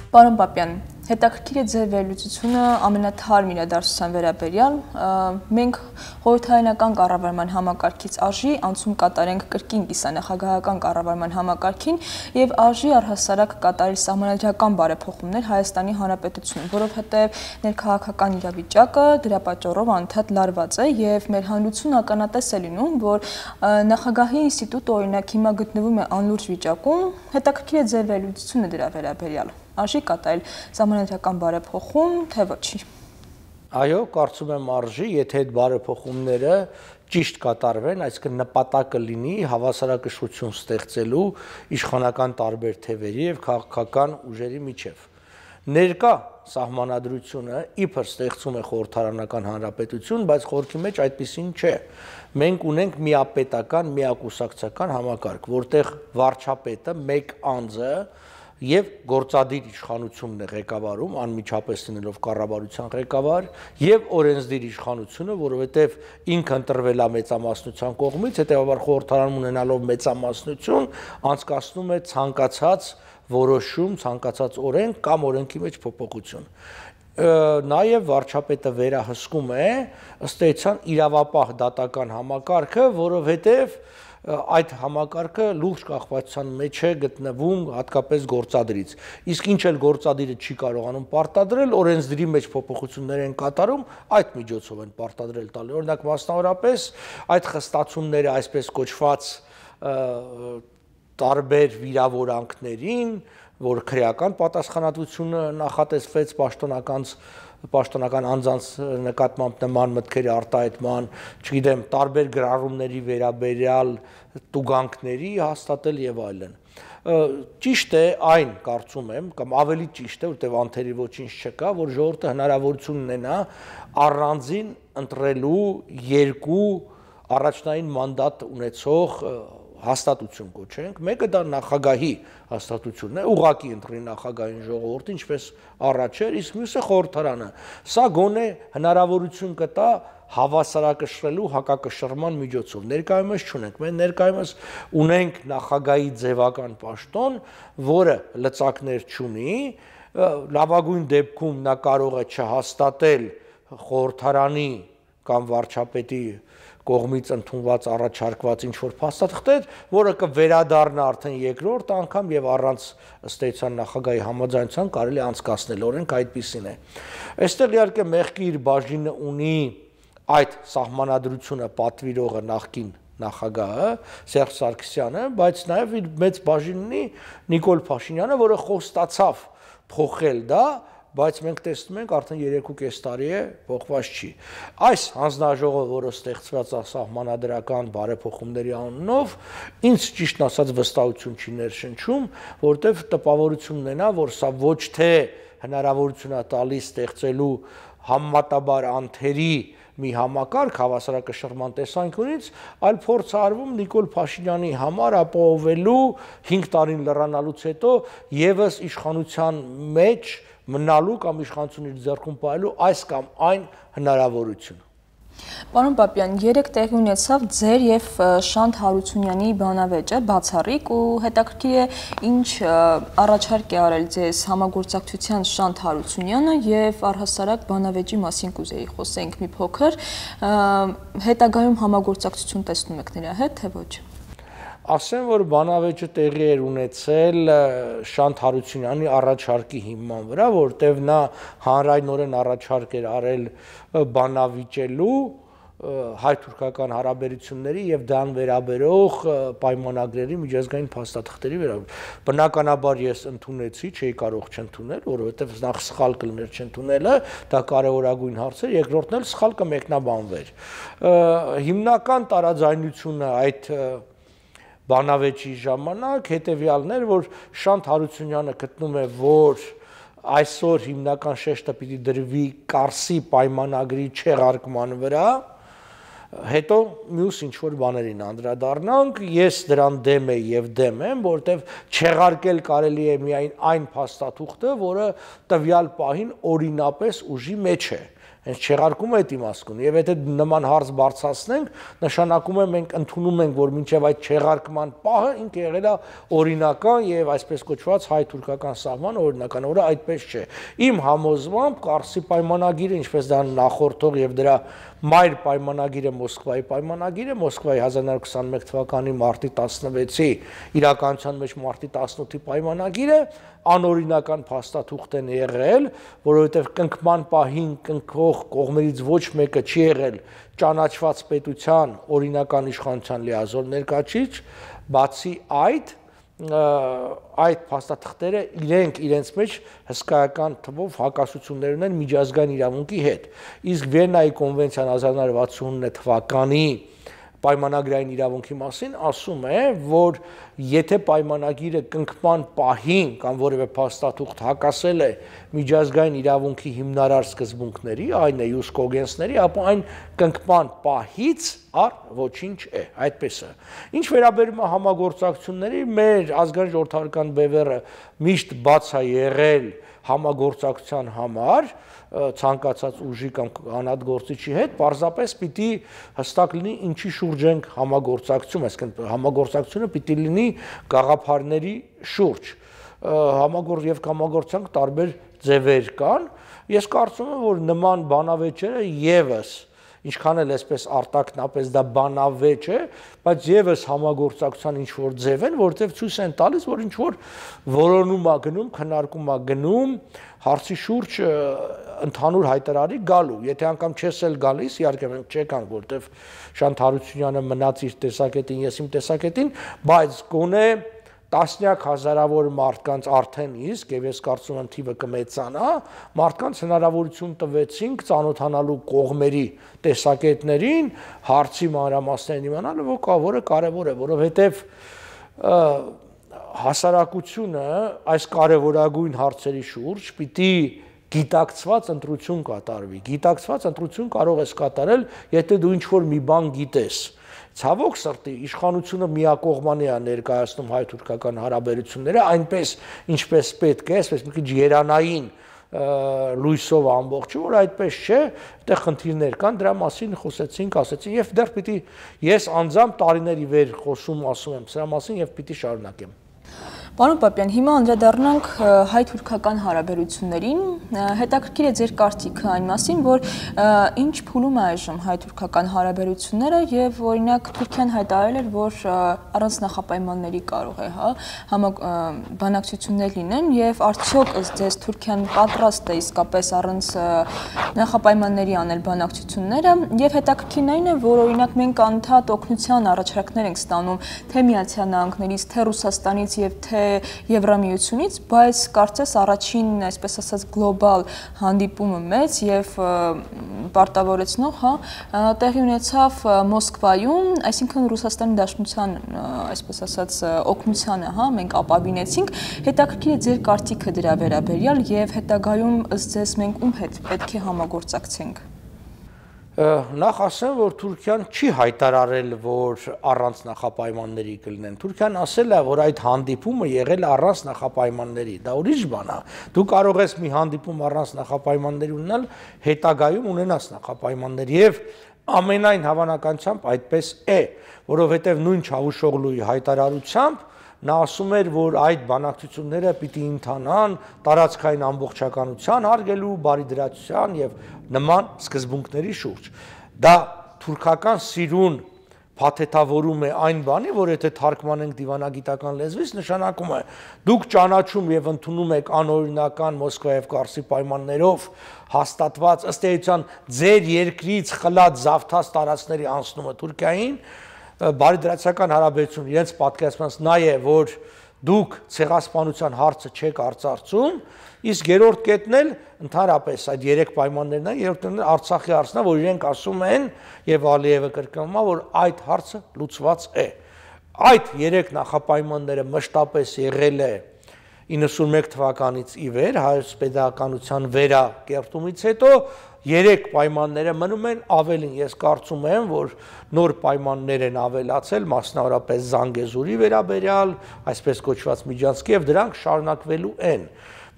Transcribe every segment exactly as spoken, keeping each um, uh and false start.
Պարոն Պապյան, հետաքրքիր է ձեր վերլուծությունը ամենաթարմ իրադարձության վերաբերյալ։ Մենք խորհրդարանական կառավարման համակարգից արժի անցում կատարենք կրկին կիսանախագահական կառավարման համակարգին եւ արժի առհասարակ կատարել սահմանադրական բարեփոխումներ Հայաստանի Հանրապետությունում, որովհետեւ ներքաղաքական իրավիճակը դրա պատճառով անդադ լարված է եւ մեր հանրությունը ականատես է լինում, որ նախագահի ինստիտուտը օրինակ հիմա գտնվում է անլուրջ վիճակում։ Հետաքրքիր է ձեր վերլուծությունը դրա վերաբերյալ։ Արժի կատարել սահմանադրական բարեփոխում, թե ոչի։ Այո, կարծում եմ արժի, եթե այդ բարեփոխումները ճիշտ կատարվեն, այսինքն նպատակը լինի հավասարակշռություն ստեղծելու իշխանական տարբեր թևերի եւ քաղաքական ուժերի միջև։ Ներկա սահմանադրությունը իբր ստեղծում է խորհրդարանական հանրապետություն, բայց խորքի մեջ այդպեսին չէ։ Մենք ունենք միապետական, միակուսակցական համակարգ, որտեղ վարչապետը մեկ անձը եւ գործադիր իշխանությունն է ղեկավարում, անմիջապես լինելով կառավարության ղեկավար, եւ օրենսդիր իշխանությունը, որովհետեւ ինքը ընտրվել է մեծամասնության կողմից, հետեւաբար խորհրդարանում ունենալով մեծամասնություն, անցկացնում է ցանկացած որոշում, ցանկացած օրենք կամ օրենքի մեջ փոփոխություն։ Նաեւ վարչապետը վերահսկում է ըստ էության իրավապահ դատական համակարգը, որովհետեւ այդ համակարգը լուրջ կախվածության մեջ է գտնվում հատկապես գործադրից։ Իսկ ինչ էլ գործադիրը չի կարողանում պարտադրել, օրենսդրի մեջ փոփոխություններ են կատարում, այդ միջոցով են պարտադրել տալի։ Օրինակ մասնավորապես այդ խստացումները այսպես կոչված տարբեր վիրավորանքներին, որ քրեական պատասխանատվությունը նախատեսվեց պաշտոնական պաշտոնական անձանց նկատմամբ նման մտքերի արտահայտման, չգիտեմ, տարբեր գրառումների վերաբերյալ տուգանքների հաստատել եւ այլն։ Ճիշտ է այն, կարծում եմ, կամ ավելի ճիշտ է, որտեղ անթերի ոչինչ չկա, որ ժողովուրդը հնարավորություն ունենա առանձին ընտրելու երկու առաջնային մանդատ ունեցող հաստատություն կոչենք, մեկը դա նախագահի հաստատությունն է, ուղղակի ընտրի նախագահային ժողովուրդը, ինչպես առաջ էր, իսկ մյուսը խորհրդարանը։ Սա գոնե հնարավորություն կտա հավասարակշռելու հակակշռման միջոցով։ Ներկայումս չունենք, մենք ներկայումս ունենք նախագահի ձևական պաշտոն, որը լծակներ չունի, լավագույն դեպքում նա կարող է չհաստատել խորհրդարանի կամ վարչապետի կողմից ընդունված առաջարկված ինչ-որ փաստաթղթեր, որը կվերադառնա արդեն երկրորդ անգամ եւ առանց ըստ էության նախագահի համաձայնության կարելի անցկացնել, օրենք այդպիսին է։ Այստեղ իհարկե մեղքի իր բաժինը ունի այդ սահմանադրությունը պատվիրողը նախկին նախագահը Սերժ Սարգսյանը, բայց նաեւ իր մեծ բաժին ունի Նիկոլ Փաշինյանը, որը խոստացավ փոխել դա, բայց մենք տեսնում ենք արդեն երեք ու կես տարի է փոխված չի։ Այս հանձնաժողովը, որը ստեղծված է սահմանադրական բարեփոխումների անունով, ինձ ճիշտ ասած վստահություն չի ներշնչում, որտեղ տպավորություն ունենա, որ սա ոչ թե հնարավորություն է տալիս ստեղծելու համեմատաբար անթերի մի համակարգ հավասարակշռման տեսանկյունից, այլ փորձ արվում Նիկոլ Փաշինյանի համար ապահովելու հինգ տարին լռանալուց հետո եւս իշխանության մեջ մնալու կամ իշխանություն իր ձեռքում պահելու այս կամ այն հնարավորություն։ Պարոն Պապյան, երեք տեղի ունեցավ ձեր եւ Շանթ Հարությունյանի բանավեճը բացառիկ ու հետաքրքիր է ինչ առաջարկ է արել ձեզ համագործակցության Շանթ Հարությունյանը եւ առհասարակ բանավեճի մասին կուզեի խոսենք մի փոքր, հետագայում համագործակցություն տեսնում եք նրա հետ, թե ոչ։ Ասեմ, որ բանավեճը տեղի էր ունեցել Շանթ Հարությունյանի առաջարկի հիման վրա, որտեղ նա հանրայնորեն առաջարկ էր արել բանավիճելու հայ-թուրքական հարաբերությունների եւ դրան վերաբերող պայմանագրերի միջազգային փաստաթղթերի վերաբերյալ։ Բնականաբար ես ընդունեցի, չէի կարող չընդունել, որովհետեւ նախ սխալ կլիներ չընդունելը, դա կարևորագույն հարց էր, երկրորդն էլ սխալ կմեկնաբանվեր։ Հիմնական տարաձայնությունը այդ բանավեճի ժամանակ հետեւյալն էր, որ Շանթ Հարությունյանը գտնում է, որ այսօր հիմնական շեշտը պիտի դրվի Կարսի պայմանագրի չեղարկման վրա, հետո մյուս ինչ-որ բաներին անդրադառնանք, ես դրան դեմ եմ եւ դեմ եմ, որտեվ չեղարկել կարելի է միայն այն փաստաթուղթը, որը տվյալ պահին օրինապես ուժի մեջ է։ Հենց չեղարկումը այդ իմաստ ունի, եւ եթե նման հարց բարձրացնենք, նշանակում է մենք ընդունում ենք, որ մինչեւ այդ չեղարկման պահը ինքը եղել է օրինական եւ այսպես կոչված հայ-թուրքական սահման օրինական, որը այդպես չէ։ Իմ համոզմամբ Կարսի պայմանագիրը, ինչպես դա նախորդող եւ դրա մայր պայմանագիրը Մոսկվայի պայմանագիրը, Մոսկվայի հազար նոր քսաներկու թվականի մարտի տասնվեցի իրականության մեջ մարտի տասնութի պայմանագիրը անօրինական փաստաթուղթ են եղել, որովհետև կնքման պահին կնքող կողմերից ոչ մեկը չի եղել ճանաչված պետության օրինական իշխանության լիազոր ներկայացուցիչ, բացի այդ այդ փաստաթղթերը իրենք իրենց մեջ հսկայական թվով հակասություններ ունեն միջազգային իրավունքի հետ։ Իսկ Վիեննայի կոնվենցիան հազար նոր վաթսունինը թվականի պայմանագրային իրավունքի մասին ասում է, որ եթե պայմանագիրը կնքման պահին կամ որևէ փաստաթուղթ հակասել է միջազգային իրավունքի հիմնարար սկզբունքների, այն է յուս կոգենսների, ապա այն կնքման պահից առ ոչինչ է, այդպես է։ Ինչ վերաբերում է համագործակցությունների, մեր ազգային ժողովրդական բևեռը միշտ բաց է եղել համագործակցության համար ցանկացած ուժի կամ անհատ գործիչի հետ, պարզապես պիտի հստակ լինի ինչի շուրջ ենք համագործակցում, այսինքն համագործակցությունը պիտի լինի գաղափարների շուրջ։ Համագործ եւ համագործակցության տարբեր ձևեր կան։ Ես կարծում եմ, որ նման բանավեճերը եւս ինչքան էլ այսպես արտակնապես դա բանավեճ է, բայց եւս համագործակցության ինչ որ ձև են, որտեղ ցույց են տալիս, որ ինչ որ որոնում է գնում, քննարկում է գնում հարցի շուրջ ընդհանուր հայտարարի գալու։ Եթե անգամ չես էլ գալիս, իհարկե մենք չեկանք, որտեղ Շանթ Հարությունյանը մնաց իր տեսակետին, ես իմ տեսակետին, բայց գոնե տասնյակ հազարավոր մարդկանց արդեն իսկ, եւ ես կարծում եմ թիվը կմեծանա, մարդկանց հնարավորություն տվեցինք ծանոթանալու կողմերի տեսակետներին, հարցի մանրամասներն իմանալը, որը կարևոր է, որովհետեւ հասարակությունը այս կարևորագույն հարցերի շուրջ պիտի գիտակցված ընտրություն կատարվի։ Գիտակցված ընտրություն կարող ես կատարել, եթե դու ինչ-որ մի բան գիտես։ Ցավոք սրտի իշխանությունը միակողմանի է ներկայացնում հայ-թուրքական հարաբերությունները, այնպես ինչպես պետք է, այսպես մի քիչ երանային լույսով ամբողջը, որ այդպես չէ, այդտեղ խնդիրներ կան, դրա մասին խոսեցինք, ասեցինք, եւ դեռ պիտի ես անձամբ տարիների վեր խոսում ասում եմ սրա մասին եւ պիտի շարունակեմ։ Պարոն Պապյան, հիմա անդրադառնանք հայ-թուրքական հարաբերություններին, հետաքրքիր է ձեր կարծիքը այն մասին, որ ինչ փուլում է այժմ հայ-թուրքական հարաբերությունները եւ օրինակ Թուրքիան հայտարարել էր, որ առանց նախապայմանների կարող է, հա, բանակցություններ լինեն եւ արդյոք ըստ ձեզ Թուրքիան պատրաստ է իսկապես առանց նախապայմանների անել բանակցությունները եւ հետաքրքիրն այն է, որ օրինակ մենք անդադ օգնության առաջարկներ ենք ստանում թե Միացյալ Նահանգներից, թե Ռուսաստանից եւ թե Եվրամիությունից, բայց կարծես առաջին, այսպես ասած, գլոբալ հանդիպումը մեծ եւ պարտավորեցնող, հա, տեղի ունեցավ Մոսկվայում, այսինքն Ռուսաստանի Դաշնության, այսպես ասած, օգնությանը, հա, մենք ապավինեցինք, հետաքրքիր է ձեր կարծիքը դրա վերաբերյալ եւ հետագայում ըստ ձեզ մենք ում հետ պետք է համագործակցենք։ Նախ ասեմ, որ Թուրքիան չի հայտարարել, որ առանց նախապայմանների կլինեն։ Թուրքիան ասել է, որ այդ հանդիպումը եղել է առանց նախապայմանների։ Դա ուրիշ բան է։ Դու կարող ես մի հանդիպում առանց նախապայմանների ունենալ, հետագայում ունենաս նախապայմաններ եւ ամենայն հավանականությամբ այդպես է, որովհետեւ նույն Չավուշօղլուի հայտարարությամբ նա ասում էր, որ այդ բանակցությունները պիտի ընթանան տարածքային ամբողջականության հարգելու, բարիդրացության եւ նման սկզբունքների շուրջ։ Դա թուրքական սիրուն փաթեթավորում է այն բանի, որ եթե թարգմանենք դիվանագիտական լեզվից, նշանակում է դուք ճանաչում եւ ընդունում եք անօրինական Մոսկվայի եւ Կարսի պայմաններով հաստատված ըստ էության ձեր երկրից խլած զավթած տարածքների անցնումը Թուրքիային, բարիդրացիական հարաբերություն իրենց պատկերացնած նա է, որ դուք ցեղասպանության հարցը չեք արծարծում, իսկ երրորդ կետն էլ ընդհանրապես այդ երեք պայմաններն են, երրորդն էլ Արցախի հարցն է, որ իրենք ասում են եւ Ալիևը կրկնում է, որ այդ հարցը լուծված է։ Այդ երեք նախապայմանները մշտապես եղել է իննսունմեկ թվականից ի վեր, հայոց պետականության վերակերտումից հետո երեք պայմանները մնում են, ավելին ես կարծում եմ, որ նոր պայմաններ են ավելացել, մասնավորապես Զանգեզուրի վերաբերյալ, այսպես կոչված միջանցքի եւ դրանք շարունակվելու են։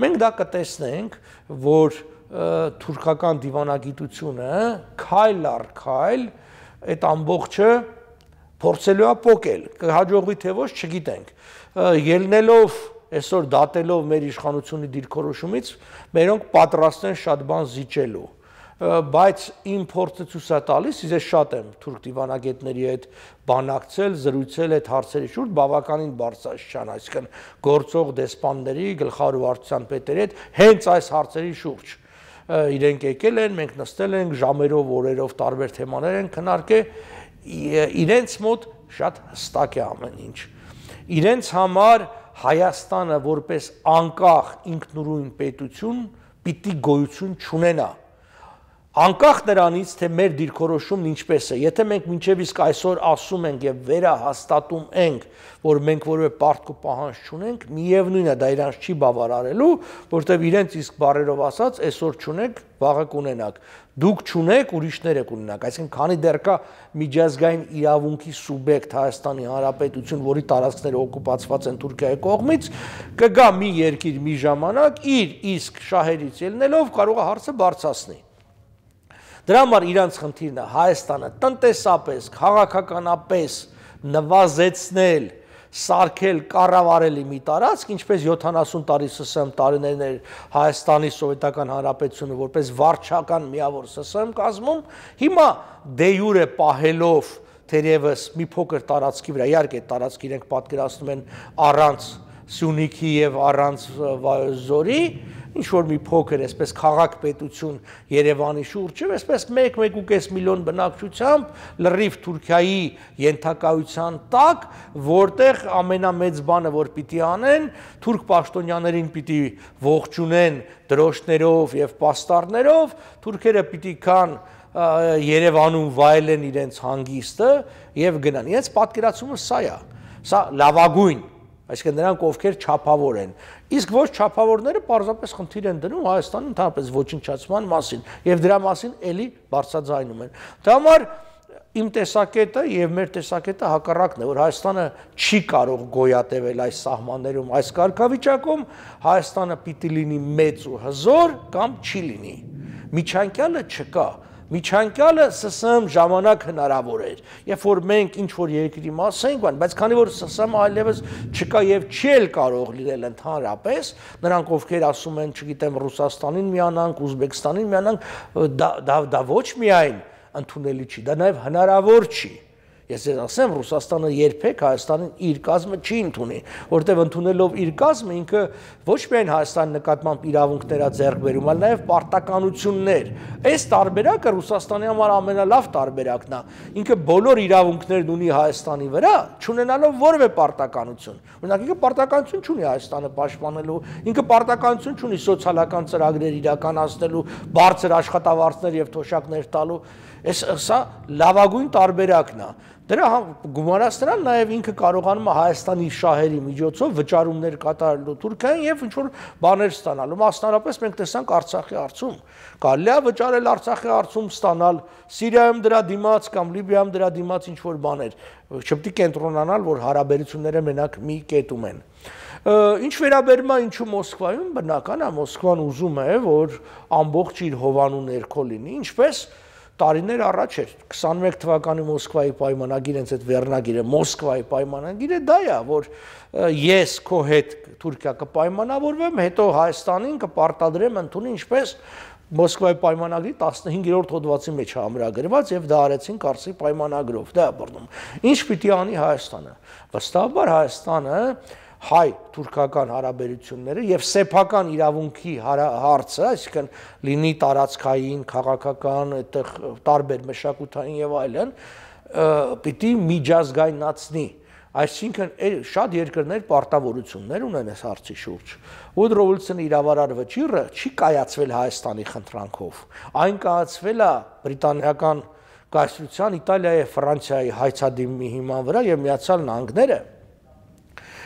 Մենք դա կտեսնենք, որ թուրքական դիվանագիտությունը քայլ առ քայլ այդ ամբողջը փորձելու է փոկել, կհաջողվի թե ոչ չգիտենք, ելնելով այսօր դատելով մեր իշխանությունի դիրքորոշումից, մերոնք պատրաստ են շատ բան զիջելու, բայց իմ փորձը ցույց է տալիս, ես շատ եմ թուրք դիվանագետների հետ բանակցել, զրուցել այդ հարցերի շուրջ, բավականին բարձրացան, այսինքն գործող դեսպանների, գլխավոր վարչության պետերի հետ հենց այս հարցերի շուրջ իրենք եկել են, մենք նստել ենք ժամերով, օրերով տարբեր թեմաներ են քննարկել, իրենց մոտ շատ հստակ է ամեն ինչ։ Իրենց համար Հայաստանը որպես անկախ ինքնուրույն պետություն պիտի գոյություն չունենա։ Անկախ նրանից, թե մեր դիրքորոշումն ինչպես է, եթե մենք մինչև իսկ այսօր ասում ենք եւ վերահաստատում ենք, որ մենք որևէ պարտք ու պահանջ չունենք, միևնույն է դա իրանց չի բավարարելու, որտեղ իրենց իսկ բառերով ասած, այսօր չունեք, վաղը կունենաք։ Դուք չունեք, ուրիշները կունենաք, այսինքն քանի դեռ կա միջազգային իրավունքի սուբյեկտ Հայաստանի Հանրապետություն, որի տարածքները օկուպացված են Թուրքիայի կողմից, կգա մի երկիր մի ժամանակ իր իսկ շահերից ելնելով կարող է հարցը բարձրացնի։ Դրա համար իրանց խնդիրն է Հայաստանը տնտեսապես, քաղաքականապես նվազեցնել, սարքել, կառավարելի մի տարածք, ինչպես յոթանասուն տարի ՍՍՄ տարիներն էր Հայաստանի Սովետական Հանրապետությունը որպես վարչական միավոր ՍՍՄ կազմում, հիմա դե յուրե պահելով թերևս մի փոքր տարածքի վրա, իհարկե տարածք իրենք պատկերացնում են առանց Սյունիքի եւ առանց Զորի, ինչ որ մի փոքր այսպես քաղաք պետություն Երևանի շուրջը, այսպես մեկ մեկ ու կես միլիոն բնակչությամբ լրիվ Թուրքիայի ենթակայության տակ, որտեղ ամենամեծ բանը որ պիտի անեն, թուրք պաշտոնյաներին պիտի ողջունեն դրոշներով եւ պաստառներով, թուրքերը պիտի կան Երևանում վայելեն իրենց հանգիստը եւ գնան։ Իրենց պատկերացումը սա է։ Սա լավագույն, այսինքն նրանք ովքեր չափավոր են։ Իսկ ոչ չափավորները պարզապես խնդիր են դնում Հայաստանի ընդհանրապես ոչնչացման մասին եւ դրա մասին էլի բարձրաձայնում են։ Դա համար իմ տեսակետը եւ մեր տեսակետը հակառակն է, որ Հայաստանը չի կարող գոյատևել այս սահմաններում, այս կարգավիճակում, Հայաստանը պիտի լինի մեծ ու հզոր կամ չի լինի։ Միջանկյալը չկա։ Միջանկյալը ՍՍՄ ժամանակ հնարավոր էր, երբ որ մենք ինչ-որ երկրի մաս ենք, բայց քանի որ ՍՍՄ այլևս չկա եւ չի էլ կարող լինել ընդհանրապես, նրանք ովքեր ասում են, չգիտեմ, Ռուսաստանին միանանք, Ուզբեկստանին միանանք, դա, դա, դա ոչ միայն ընդունելի չի, դա նաեւ հնարավոր չի։ Ես ձեզ ասեմ, Ռուսաստանը երբեք Հայաստանին իր կազմը չի ընդունի, որտեղ ընդունելով իր կազմը ինքը ոչ միայն Հայաստանի նկատմամբ իրավունքներ է ձեռք բերում, այլ նաև պարտականություններ։ Այս տարբերակը Ռուսաստանի համար ամենալավ տարբերակն է։ Ինքը բոլոր իրավունքներն ունի Հայաստանի վրա, չունենալով որևէ պարտականություն։ Օրինակ, ինքը պարտականություն չունի Հայաստանը պաշտպանելու, ինքը պարտականություն չունի սոցիալական ծրագրեր իրականացնելու, բարձր աշխատավարձներ եւ թոշակներ տալու։ Այս սա լավագույն տարբերակն է։ Դրա գումարած նրան նաև ինքը կարողանում է Հայաստանի շահերի միջոցով վճարումներ կատարելու Թուրքիային եւ ինչ որ բաներ ստանալու։ Մասնարարպես մենք տեսանք Արցախի հարցում։ Կարելի է վճարել Արցախի հարցում ստանալ, Սիրիայում դրա դիմաց կամ Լիբիայում դրա դիմաց ինչ որ բաներ։ Չպետք է կենտրոնանալ, որ հարաբերությունները մենակ մի կետում են։ Ինչ վերաբերում է ինչու Մոսկվայում, բնական է Մոսկվան ուզում է, որ ամբողջ իր հովանու ներքո լինի, ինչպես տարիներ առաջ էր քսանմեկ թվականի Մոսկվայի պայմանագիր, հենց այդ վերնագիրը Մոսկվայի պայմանագիրը դա է, որ ես քո հետ Թուրքիա կպայմանավորվեմ, հետո Հայաստանին կպարտադրեմ ընդունի, ինչպես Մոսկվայի պայմանագրի տասնհինգերորդ հոդվածի մեջ ամրագրված եւ դա արեցին Կարսի պայմանագրով, դա է բռնում։ Ինչ պիտի անի Հայաստանը։ Վստահաբար Հայաստանը հայ-թուրքական հարաբերությունները եւ սեփական իրավունքի հարցը, այսինքն լինի տարածքային, քաղաքական, այդտեղ տարբեր մշակութային եւ այլն, պիտի միջազգայնացնի։ Այսինքն շատ երկրներ պարտավորություններ ունեն այս հարցի շուրջ։ Woodrow Wilson-ի իրավարար վճիռը չի կայացվել Հայաստանի խնդրանքով։ Այն կայացվել է բրիտանիական կայսրության, Իտալիայի, Ֆրանսիայի հայցադիմի հիման վրա եւ Միացյալ Նահանգները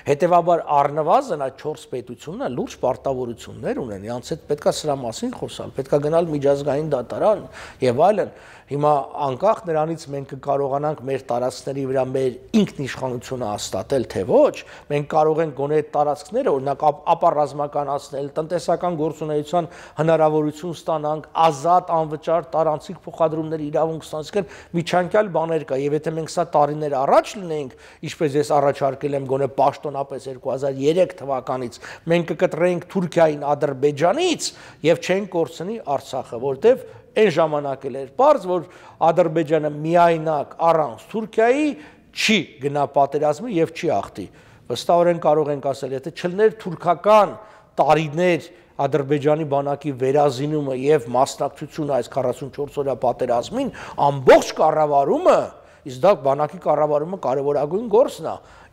Հետևաբար առնվազն այդ չորս պետությունները լուրջ պարտավորություններ ունեն, իրանց հետ պետքա սրա մասին խոսալ, պետքա գնալ միջազգային դատարան եւ այլն։ Հիմա անկախ նրանից մենք կկարողանանք մեր տարածքների վրա մեր ինքնիշխանությունը հաստատել, թե ոչ, մենք կարող ենք գոնե այդ տարածքները օրինակ ապառազմականացնել, տնտեսական գործունեության հնարավորություն ստանանք, ազատ անվճար տարանցիկ փոխադրումների իրավունք ստանանք, միջանկյալ բաներ կա, եւ եթե մենք սա տարիներ առաջ լինենք, ինչպես ես առաջարկել եմ գոնե պաշտոնապես երկու հազար երեք թվականից, մենք կկտրեինք Թուրքիային Ադրբեջանից եւ չենք կորցնի Արցախը, որտեւ այն ժամանակ էլ էր պարզ, որ Ադրբեջանը միայնակ առանց Թուրքիայի չի գնա պատերազմի եւ չի ախտի։ Վստահորեն կարող ենք ասել, եթե չլներ թուրքական տարիներ Ադրբեջանի բանակի վերազինումը եւ մասնակցությունը այս քառասունչորս օրյա պատերազմին, ամբողջ կառավարումը, իսկ դա բանակի կառավարումը կարևորագույն գործն է,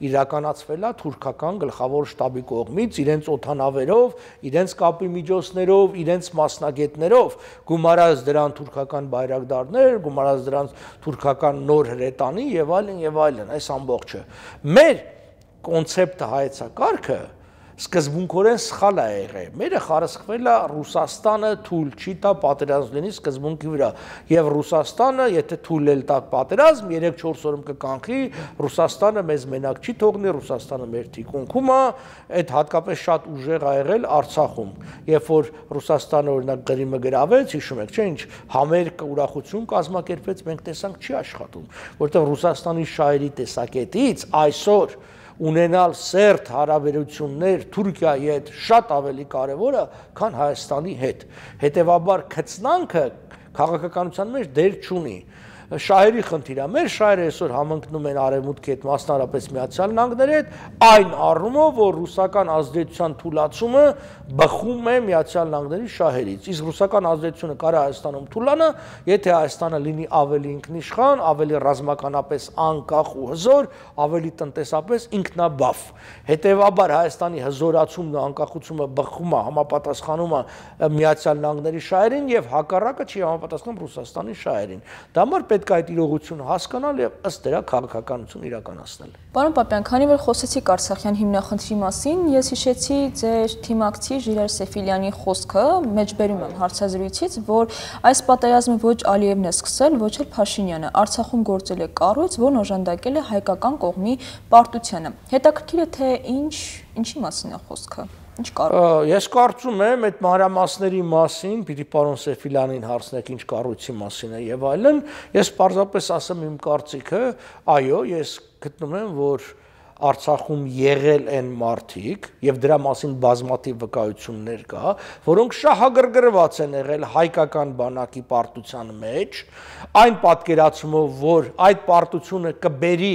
իրականացվել է թուրքական գլխավոր շտաբի կողմից, իրենց օդանավերով, իրենց կապի միջոցներով, իրենց մասնագետներով, գումարած դրան թուրքական բայրակդարներ, գումարած դրանց թուրքական նոր հրետանի եւ այլն եւ այլն, այս ամբողջը։ Մեր կոնցեպտը հայեցակարգը սկզբունքորեն սխալ է եղել։ Մերը խարսխվել է Ռուսաստանը թույլ չի տա պատերազմ լինի սկզբունքի վրա, եւ Ռուսաստանը, եթե թույլ էլ տա պատերազմ, երեք-չորս օրում կկանխի, Ռուսաստանը մեզ մենակ չի թողնի, Ռուսաստանը մեր թիկունքում է, այդ հատկապես շատ ուժեղ ա եղել Արցախում, երբ որ Ռուսաստանը օրինակ Ղրիմը գրավեց, հիշում եք, չէ՞, ինչ համերգ ուրախություն կազմակերպեց, մենք տեսանք չի աշխատում, որտեղ Ռուսաստանի շահերի տեսակետից այսօր ունենալ սերտ հարաբերություններ Թուրքիայի հետ շատ ավելի կարևոր է, քան Հայաստանի հետ։ Հետևաբար քծնանքը քաղաքականության մեջ դեր չունի։ Շահերի խնդիր է, մեր շահերը այսօր համընկնում են արևմուտքի հետ, մասնարարպես Միացյալ Նահանգների հետ, այն առումով, որ ռուսական ազդեցության թուլացումը բխում է Միացյալ Նահանգների շահերից։ Իսկ ռուսական ազդեցությունը կարա Հայաստանում թուլանա, եթե Հայաստանը լինի ավելի ինքնիշխան, ավելի ռազմականապես անկախ ու հզոր, ավելի տնտեսապես ինքնաբավ։ Հետևաբար Հայաստանի հզորացումն ու անկախությունը բխում է, համապատասխանում է Միացյալ Նահանգների շահերին եւ հակառակը չի համապատասխանում Ռուսաստանի շահերին։ Դա համար պետք է այդ իրողությունը հասկանալ եւ ըստ դրա քաղաքականություն իրականացնել։ Պարոն Պապյան, քանի որ խոսեցիք Արցախյան հիմնախնդրի մասին, ես հիշեցի ձեր թիմակցի Ժիրայր Սեֆիլյանի խոսքը, մեջբերում եմ հարցազրույցից, որ այս պատերազմը ոչ Ալիևն է սկսել, ոչ էլ Փաշինյանը, Արցախում գործել է կառույց, որն օժանդակել է հայկական կողմի պարտությանը։ Հետաքրքիր է, թե ինչ, ինչի մասին է խոսքը։ Ինչ կարող։ Ես կարծում եմ այդ մանրամասների մասին, պիտի պարոն Սեֆիլյանին հարցնեք ինչ կառույցի մասին է եւ այլն, ես պարզապես ասեմ իմ կարծիքը, այո, ես գտնում եմ, որ Արցախում եղել են մարդիկ եւ դրա մասին բազմաթիվ վկայություններ կա, որոնք շահագրգռված են եղել հայկական բանակի պարտության մեջ, այն պատկերացումով, որ այդ պարտությունը կբերի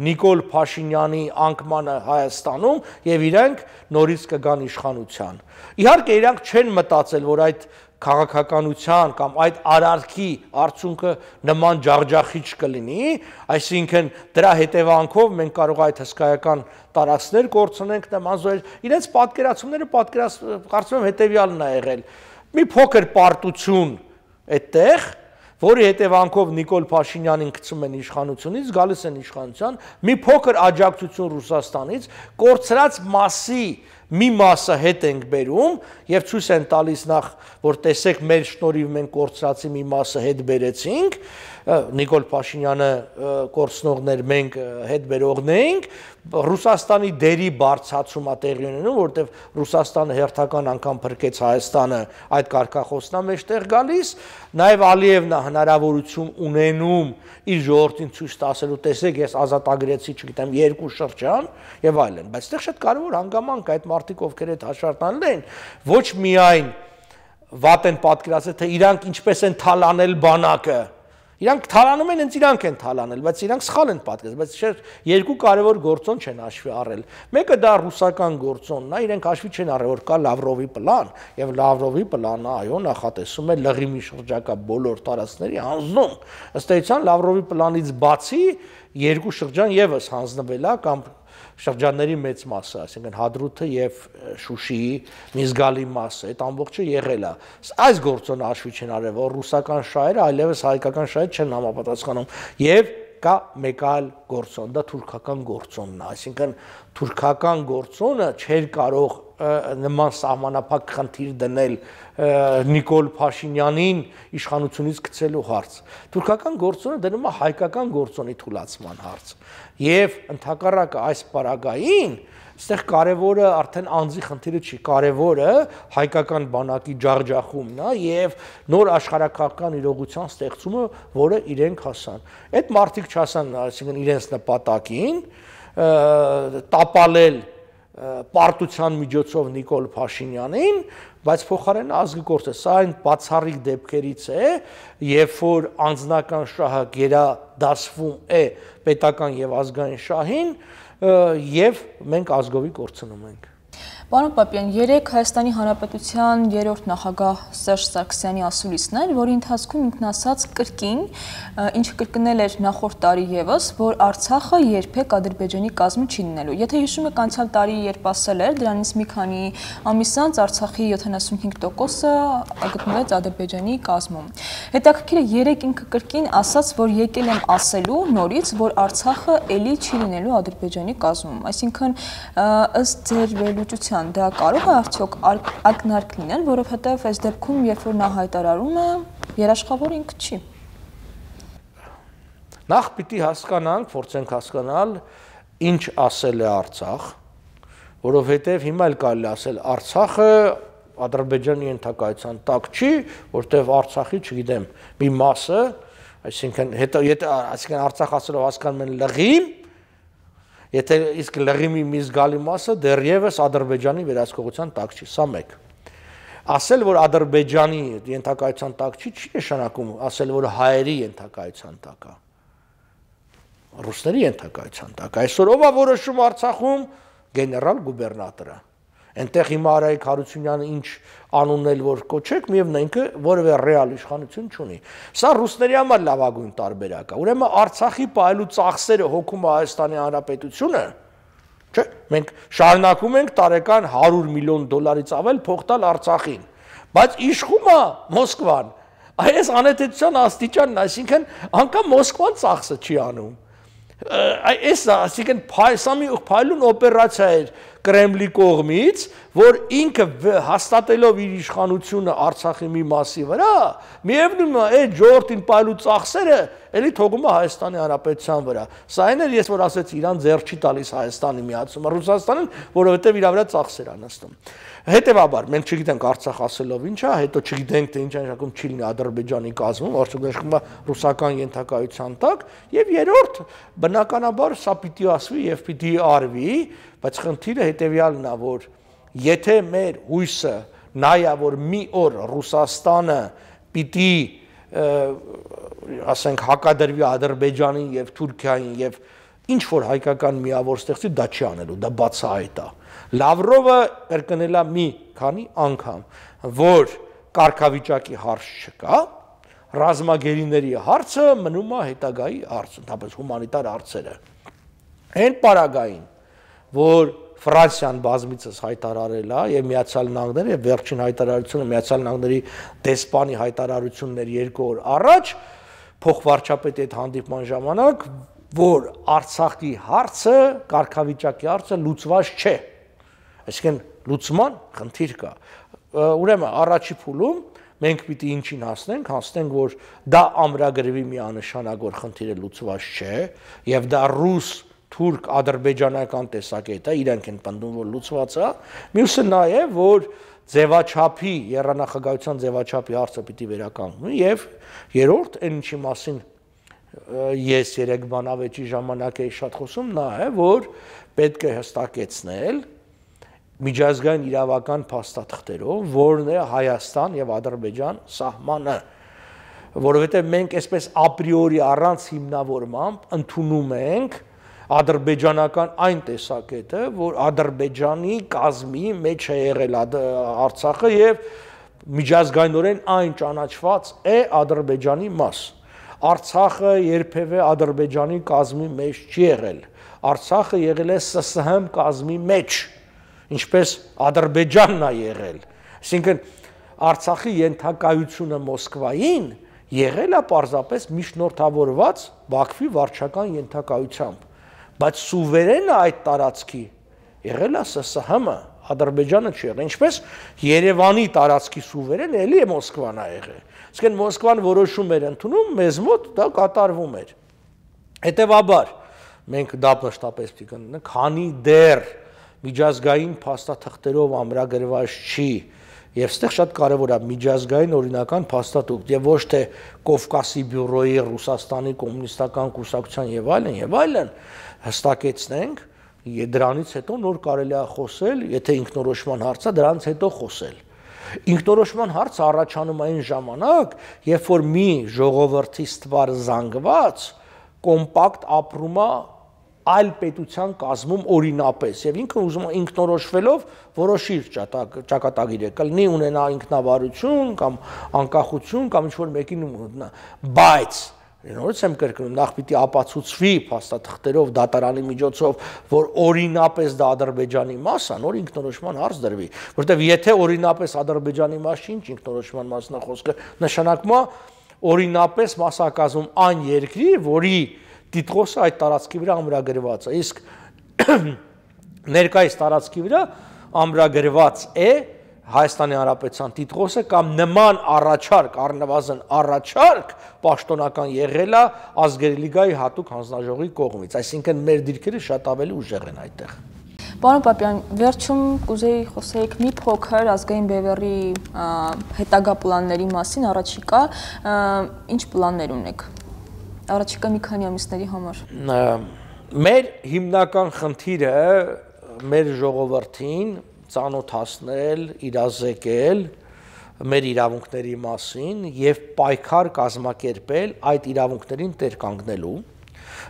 Նիկոլ Փաշինյանի անկմանը Հայաստանում եւ իրենք նորից կգան իշխանության։ Իհարկե իրանք չեն մտածել, որ այդ քաղաքականության կամ այդ արարքի արդյունքը նման ջախջախիչ կլինի, այսինքն դրա հետևանքով մենք կարող այդ հսկայական տարածքներ կորցնենք նման զոհեր, իրենց պատկերացումները կարծում եմ հետևյալն է եղել։ Մի փոքր պարտություն այդտեղ, որի հետևանքով Նիկոլ Փաշինյանին գցում են իշխանությունից, գալիս են իշխանության, մի փոքր աջակցություն Ռուսաստանից, կորցրած մասի մի մասը հետ ենք բերում եւ ցույց են տալիս նախ, որ տեսեք մեր շնորհիվ մենք կորցրածի մի մասը հետ բերեցինք, Նիկոլ Փաշինյանը կորցնողներ, մենք հետ բերողն էինք, Ռուսաստանի դերի բարձրացումը տեղի ունենում, որտեղ Ռուսաստանը հերթական անգամ փրկեց Հայաստանը, այդ կարգախոսն է մեջտեղ գալիս, նաեւ Ալիևն է հնարավորություն ունենում իր ժողովրդին ցույց տասելու, տեսեք, ես ազատագրեցի, չգիտեմ, երկու շրջան եւ այլն, բայց այդտեղ շատ կարեւոր հանգամանք այդ մարդիկ, ովքեր այդ հաշվարկն են, ոչ միայն վատ են պատկերացել, թե իրանք ինչպես են թալանել բանակը, իրանք թալանում են, հենց իրանք են թալանել, բայց իրանք սխալ են պատկերացել, բայց երկու կարևոր գործոն չեն հաշվի առել։ Մեկը դա ռուսական գործոնն է, իրենք հաշվի չեն առել, որ կա Լավրովի պլան, եւ Լավրովի պլանը, այո, նախատեսում է Լղիմի շրջակա բոլոր տարածքների հանձնում։ Ըստ էության Լավրովի պլանից բացի երկու շրջան եւս հանձնվել է կամ շրջանների մեծ մասը, այսինքն Հադրութը եւ Շուշիի մի զգալի մասը, այդ ամբողջը եղել է։ Այս գործոնը հաշվի չեն արել, որ ռուսական շահերը այլևս հայկական շահեր չեն համապատասխանում եւ կա մեկ այլ գործոն, դա թուրքական գործոնն է, այսինքն թուրքական գործոնը չէր կարող նման սահմանափակ խնդիր դնել Նիկոլ Փաշինյանին իշխանությունից գցելու հարց։ Թուրքական գործոնը դնում է հայկական գործոնի թուլացման հարց։ Եվ ընդհակառակը այս պարագային այստեղ կարևորը արդեն անձի խնդիրը չի, կարևորը հայկական բանակի ջախջախումն է եւ նոր աշխարհակաղակական իրողության ստեղծումը, որը իրենք հասան։ Այդ մարդիկ չհասան, այսինքն իրենց նպատակին տապալել պարտության միջոցով Նիկոլ Փաշինյանին, բայց փոխարենը ազգի գործը, սա այն բացառիկ դեպքերից է, երբ որ անձնական շահը գերադասվում է պետական եւ ազգային շահին, եւ մենք ազգովի կորցնում ենք։ Պարոն Պապյան, երեք Հայաստանի Հանրապետության երրորդ նախագահ Սերժ Սարգսյանի ասուլիսն էր, որի ընթացքում ինքն ասաց կրկին, ինչը կրկնել էր նախորդ տարի եւս, որ Արցախը երբեք Ադրբեջանի կազմը չի լինելու։ Եթե հիշում եք, անցյալ տարի երբ ասել էր, դրանից մի քանի ամիս անց Արցախի յոթանասունհինգ տոկոսը գտնվեց Ադրբեջանի կազմում։ Հետաքրքիր է, երեք ինքը կրկին ասաց, որ եկել եմ ասելու նորից, որ Արցախը էլի չի լինելու Ադրբեջանի կազմում։ Այսինքն, ըստ ձեր վերլուծության դա կարող է արդյոք ակնարկ լինել, որովհետև այս դեպքում, երբ որ նա հայտարարում է, երաշխավոր ինքը չի։ Նախ պիտի հասկանանք, փորձենք հասկանալ, ինչ ասել է Արցախ, որովհետև հիմա էլ կարելի ասել Արցախը Ադրբեջանի ենթակայության տակ չի, որտեղ Արցախի, չգիտեմ, մի մասը, այսինքն հետո եթե այսինքն Արցախ ասելով հասկանում են լղիմ, եթե իսկ լղիմի մի զգալի մասը դեռևս Ադրբեջանի վերահսկողության տակ չի, սա մեկ։ Ասել, որ Ադրբեջանի ենթակայության տակ չի, չի նշանակում ասել, որ հայերի ենթակայության տակ է։ Ռուսների ենթակայության տակ։ Այսօր ով է որոշում Արցախում, գեներալ գուբերնատորը։ Այնտեղ հիմա Արայիկ Հարությունյանը ինչ անուննել որ կոչեք, միևնույն ինքը որևէ ռեալ իշխանություն չունի։ Սա ռուսների համար լավագույն տարբերակ է։ Ուրեմն Արցախի պահելու ծախսերը հոգում է Հայաստանի Հանրապետությունը, չէ՞։ Մենք շարունակում ենք տարեկան հարյուր միլիոն դոլարից ավել փող տալ Արցախին, բայց իշխում է Մոսկվան։ Այս անհետեցության աստիճանն, այսինքն անգամ Մոսկվան ծախսը չի անում։ Այս այսինքն սա մի փայլուն օպերացիա էր Կրեմլի կողմից, որ ինքը հաստատելով իր իշխանությունը Արցախի մի մասի վրա, միևնույն է այդ ժողովրդին պայելու ծախսերը էլի թողում է Հայաստանի Հանրապետության վրա։ Սա այն էր, ես որ ասեցի, Իրան ձեռ չի տալիս Հայաստանի միացումը Ռուսաստանին, որովհետև իր վրա ծախսեր են նստում։ Հետևաբար, մենք չգիտենք Արցախ ասելով ինչ է, հետո չգիտենք թե ինչ նշանակում չի լինի Ադրբեջանի կազմում, արդյոք նշանակում է ռուսական ենթակայության տակ, եւ երրորդ, բնականաբար սա պիտի ասվի եւ պիտի արվի, բայց խնդիրը հետեւյալն է, որ եթե մեր հույսը նայա, որ մի օր Ռուսաստանը պիտի ասենք հակադրվի Ադրբեջանին եւ Թուրքիային եւ ինչ որ հայկական միավոր ստեղծի, դա չի անելու, դա բացահայտ է։ Լավրովը կրկնել է մի քանի անգամ, որ կարգավիճակի հարց չկա, ռազմագերիների հարցը մնում է հետագայի հարց, ընդհանրապես հումանիտար հարցերը։ Այն պարագային, որ Ֆրանսիան բազմիցս հայտարարել է եւ Միացյալ Նահանգները եւ վերջին հայտարարությունը Միացյալ Նահանգների դեսպանի հայտարարությունն էր երկու օր առաջ, փոխվարչապետի հետ հանդիպման ժամանակ, որ Արցախի հարցը, կարգավիճակի հարցը լուծված չէ։ Այսինքն լուծման խնդիր կա։ Ուրեմն առաջի փուլում մենք պիտի ինչին հասնենք, հասնենք, որ դա ամրագրվի միանշանակ, որ խնդիրը լուծված չէ եւ դա ռուս թուրք ադրբեջանական տեսակետ է, իրենք են պնդում, որ լուծված է։ Մյուսը նա է, որ ձևաչափի, եռանախագահության ձևաչափի հարցը պիտի վերականգնվի եւ երրորդ, այն ինչի մասին ես երեք բանավեճի ժամանակ էի շատ խոսում, նա է, որ պետք է հստակեցնել միջազգային իրավական փաստաթղթերով, որն է Հայաստան եւ Ադրբեջան սահմանը, որովհետեւ մենք այսպես ապրիորի առանց հիմնավորմամբ ընդունում ենք ադրբեջանական այն տեսակետը, որ Ադրբեջանի կազմի մեջ է եղել Արցախը եւ միջազգայինորեն այն ճանաչված է Ադրբեջանի մաս։ Արցախը երբևէ Ադրբեջանի կազմի մեջ չի եղել։ Արցախը եղել է S S H կազմի մեջ, ինչպես Ադրբեջանն է եղել։ Այսինքն Արցախի ենթակայությունը Մոսկվային եղել է պարզապես միջնորդավորված Բաքվի վարչական ենթակայությամբ, բայց սուվերենը այդ տարածքի եղել է S S H-ը, Ադրբեջանը չի եղել, ինչպես Երևանի տարածքի սուվերեն էլի է Մոսկվան ա եղել։ Իսկ այն Մոսկվան որոշում էր ընդունում, մեզ մոտ դա կատարվում էր։ Հետևաբար մենք դա մշտապես պիտի կնենք, քանի դեռ միջազգային փաստաթղթերով ամրագրված չի, եւ այստեղ շատ կարեւոր է միջազգային օրինական փաստաթուղթ եւ ոչ թե Կովկասի բյուրոյի, Ռուսաստանի կոմունիստական կուսակցության եւ այլն եւ այլն հստակեցնենք, դրանից հետո նոր կարելի է խոսել, եթե ինքնորոշման հարցը դրանից հետո խոսել։ Ինքնորոշման հարցը առաջանում այն ժամանակ, երբ որ մի ժողովրդի ստվար զանգված կոմպակտ ապրում է այլ պետության կազմում օրինապես եւ ինքը ուզում է ինքնորոշվելով որոշիր ճակատագիրը կլինի ունենա ինքնավարություն կամ անկախություն կամ ինչ որ մեկին ունենա, բայց նորից եմ կրկնում, նախ պիտի ապացուցվի փաստաթղթերով դատարանի միջոցով, որ օրինապես դա Ադրբեջանի մաս է, նոր ինքնորոշման հարց դրվի, որտեղ եթե օրինապես Ադրբեջանի մաս չի, ինչ ինքնորոշման մասն է խոսքը, նշանակում է օրինապես մասնակազում այն երկրի, որի տիտղոսը այդ տարածքի վրա ամրագրված է, իսկ ներկայիս տարածքի վրա ամրագրված է Հայաստանի Հանրապետության տիտղոսը կամ նման առաջարկ, առնվազն առաջարկ պաշտոնական եղել է Ազգերի լիգայի հատուկ հանձնաժողովի կողմից, այսինքն մեր դիրքերը շատ ավելի ուժեղ են այդտեղ։ Պարոն Պապյան, վերջում կուզեի խոսեիք մի փոքր ազգային բևեռի հետագա պլանների մասին, առաջիկա ինչ պլաններ ունեք։ Առաջիկա մի քանի ամիսների համար։ Մեր հիմնական խնդիրը մեր ժողովրդին ծանոթացնել, իրազեկել մեր իրավունքների մասին եւ պայքար կազմակերպել այդ իրավունքներին տեր կանգնելու,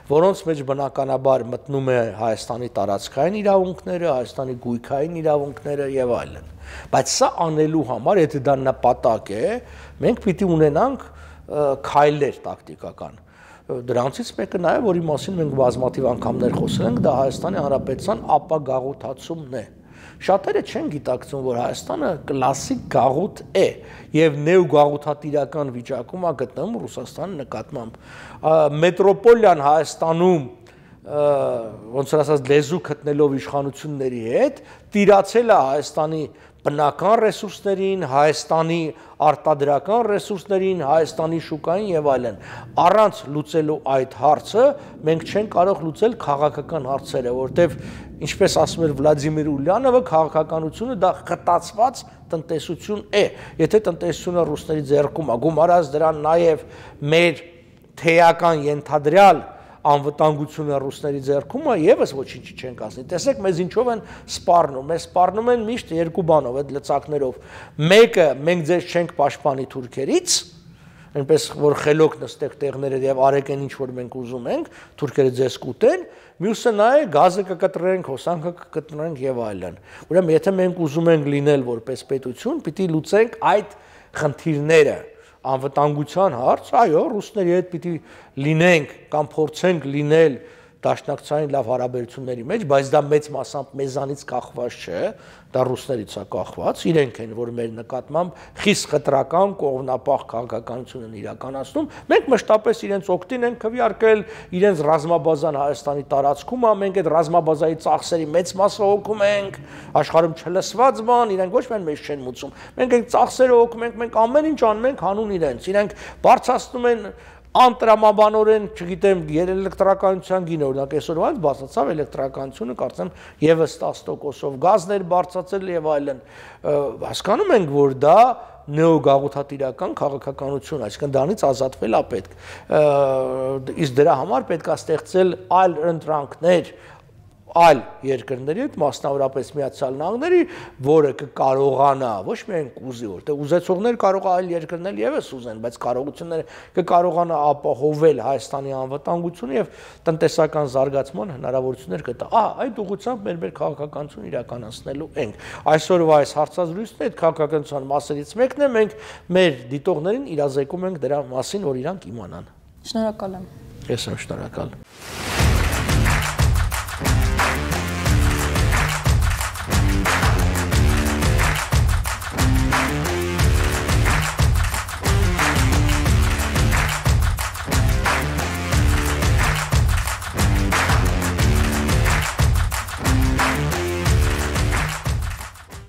որոնց մեջ բնականաբար մտնում է Հայաստանի տարածքային իրավունքները, Հայաստանի գույքային իրավունքները եւ այլն։ Բայց սա անելու համար, եթե դա նպատակ է, մենք պիտի ունենանք քայլեր տակտիկական։ Դրանցից մեկը նաեւ, որի մասին մենք բազմաթիվ անգամներ խոսել ենք, դա Հայաստանի Հանրապետության ապագաղութացումն է։ Շատերը չեն գիտակցում, որ Հայաստանը կլասիկ գաղութ է եւ նեոգաղութատիրական վիճակում է գտնվում Ռուսաստանի նկատմամբ։ Մետրոպոլիան Հայաստանում ոնց որ ասած լեզու գտնելով իշխանությունների հետ տիրացել է Հայաստանի բնական ռեսուրսներին, Հայաստանի արտադրական ռեսուրսներին, Հայաստանի շուկային եւ այլն։ Առանց լուծելու այդ հարցը մենք չենք կարող լուծել քաղաքական հարցերը, որտեվ ինչպես ասում էր Վլադիմիր Ուլյանովը, քաղաքականությունը դա խտացված տնտեսություն է։ Եթե տնտեսությունը ռուսների ձեռքում է, գումարած դրան նաեւ մեր թեական ենթադրյալ անվտանգությունը ռուսների ձեռքում է, եւս ոչինչ չենք ասի։ Տեսեք, մեզ ինչով են սպառնում, մեզ սպառնում են միշտ երկու բանով, այդ լծակներով։ Մեկը մենք ձեզ չենք պաշտպանի թուրքերից, այնպես որ խելոք նստեք տեղները եւ արեք այն ինչ որ մենք ուզում ենք, թուրքերը ձեզ կուտեն, մյուսը նա է գազը կկտրենք, հոսանքը կկտրենք եւ այլն։ Ուրեմն եթե մենք ուզում ենք լինել որպես պետություն, պիտի լուծենք այդ խնդիրները։ Անվտանգության հարց, այո, ռուսների հետ պիտի լինենք կամ փորձենք լինել դաշնակցային լավ հարաբերությունների մեջ, բայց դա մեծ մասամբ մեզանից կախված չէ, դա ռուսներից է կախված, իրենք են, որ մեր նկատմամբ խիստ խտրական կողմնապահ քաղաքականություն են իրականացնում, մենք մշտապես իրենց օգտին ենք քվեարկել, իրենց ռազմաբազան Հայաստանի տարածքում է, մենք այդ ռազմաբազայի ծախսերի մեծ մասը հոգում ենք, աշխարհում չլսված բան, իրենք ոչ միայն մեզ չեն մուծում, մենք այդ ծախսերը հոգում ենք, մենք ամեն ինչ անում ենք հանուն իրենց, իրենք բարձրացնում են անտրամաբանորեն, չգիտեմ, էլեկտրականության գինը, օրինակ այսօր ոնց բացացավ էլեկտրականությունը, կարծեմ եւս տասը տոկոսով գազներ բարձրացել եւ այլն։ Հասկանում ենք, որ դա նեոգաղութատիրական քաղաքականություն, այսինքն դրանից ազատվել է պետք։ Իսկ դրա համար պետք է ստեղծել այլ ընտրանքներ այլ երկրների հետ, մասնավորապես Միացյալ Նահանգների, որը կկարողանա, ոչ միայն կուզի, որտեղ ուզեցողներ կարող է այլ երկրներ եւս ուզեն, բայց կարողությունները կկարողանա ապահովել Հայաստանի անվտանգությունը եւ տնտեսական զարգացման հնարավորություններ կտա։ Ահա այդ ուղղությամբ մեր մեր քաղաքականություն իրականացնելու ենք։ Այսօրվա այս հարցազրույցն այդ քաղաքականության մասերից մեկն է, մենք մեր դիտողներին իրազեկում ենք դրա մասին, որ իրանք իմանան։ Շնորհակալ եմ։ Ես եմ շնորհակալ։